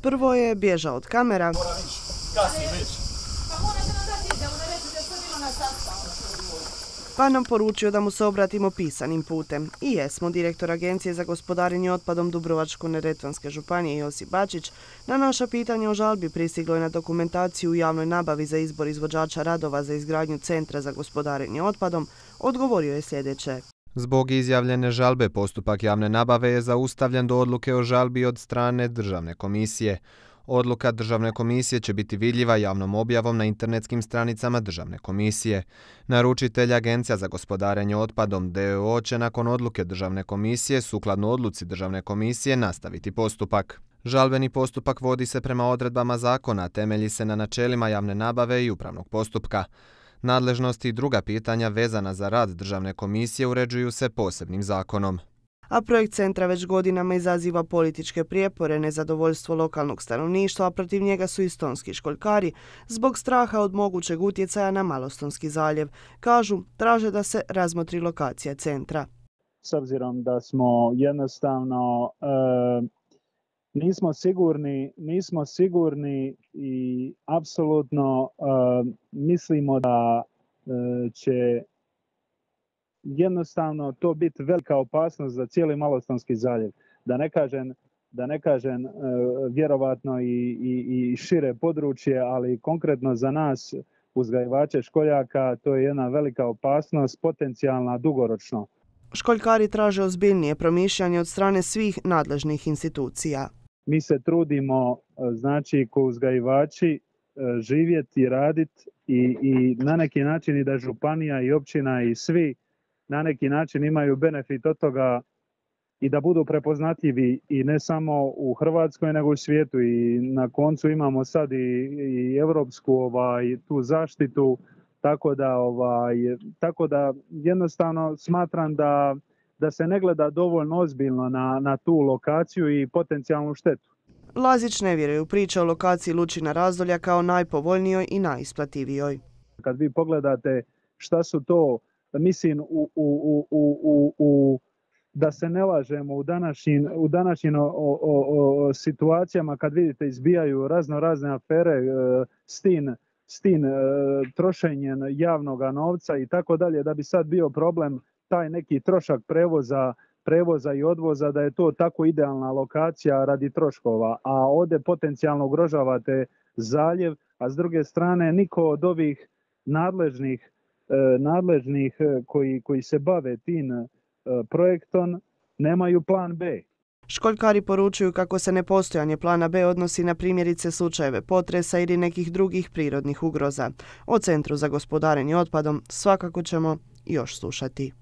Prvo je bježao od kamera, pa nam poručio da mu se obratimo pisanim putem. I jesmo. Direktor Agencije za gospodarenje otpadom Dubrovačko-neretvanske županije Josip Bačić na naša pitanja o žalbi pristiglo je na dokumentaciju u javnoj nabavi za izbor izvođača radova za izgradnju Centra za gospodarenje otpadom odgovorio je sljedeće. Zbog izjavljene žalbe postupak javne nabave je zaustavljen do odluke o žalbi od strane Državne komisije. Odluka Državne komisije će biti vidljiva javnom objavom na internetskim stranicama Državne komisije. Naručitelj Agencija za gospodarenje otpadom d.o.o. će nakon odluke Državne komisije sukladno odluci Državne komisije nastaviti postupak. Žalbeni postupak vodi se prema odredbama zakona, temelji se na načelima javne nabave i upravnog postupka. Nadležnosti i druga pitanja vezana za rad Državne komisije uređuju se posebnim zakonom. A projekt centra već godinama izaziva političke prijepore, nezadovoljstvo lokalnog stanovništva, a protiv njega su i stonski školjkari zbog straha od mogućeg utjecaja na Malostonski zaljev. Kažu, traže da se razmotri lokacija centra. S obzirom da smo jednostavno nismo sigurni i apsolutno mislimo da će jednostavno to biti velika opasnost za cijeli Malostonski zaljev. Da ne kažem vjerovatno i šire područje, ali konkretno za nas uzgajivače školjaka to je jedna velika opasnost, potencijalna dugoročno. Školjkari traže ozbiljnije promišljanje od strane svih nadležnih institucija. Mi se trudimo, znači, ko uzgajivači živjeti i raditi i na neki način i da županija i općina i svi na neki način imaju benefit od toga i da budu prepoznatljivi i ne samo u Hrvatskoj nego u svijetu. I na koncu imamo sad i europsku tu zaštitu, tako da jednostavno smatram da se ne gleda dovoljno ozbiljno na tu lokaciju i potencijalnu štetu. Lazić ne vjeruje u priče o lokaciji Lučina Razdolja kao najpovoljnijoj i najisplativijoj. Kad vi pogledate šta su to, mislim, da se ne lažemo u današnjim situacijama kad vidite izbijaju razne afere s tim trošenjem javnog novca i tako dalje, da bi sad bio problem taj neki trošak prevoza i odvoza, da je to tako idealna lokacija radi troškova, a ovdje potencijalno ugrožavate zaljev, a s druge strane niko od ovih nadležnih koji se bave tim projektom nemaju plan B. Školjkari poručuju kako se nepostojanje plana B odnosi na primjerice slučajeve potresa ili nekih drugih prirodnih ugroza. O Centru za gospodarenje otpadom svakako ćemo još slušati.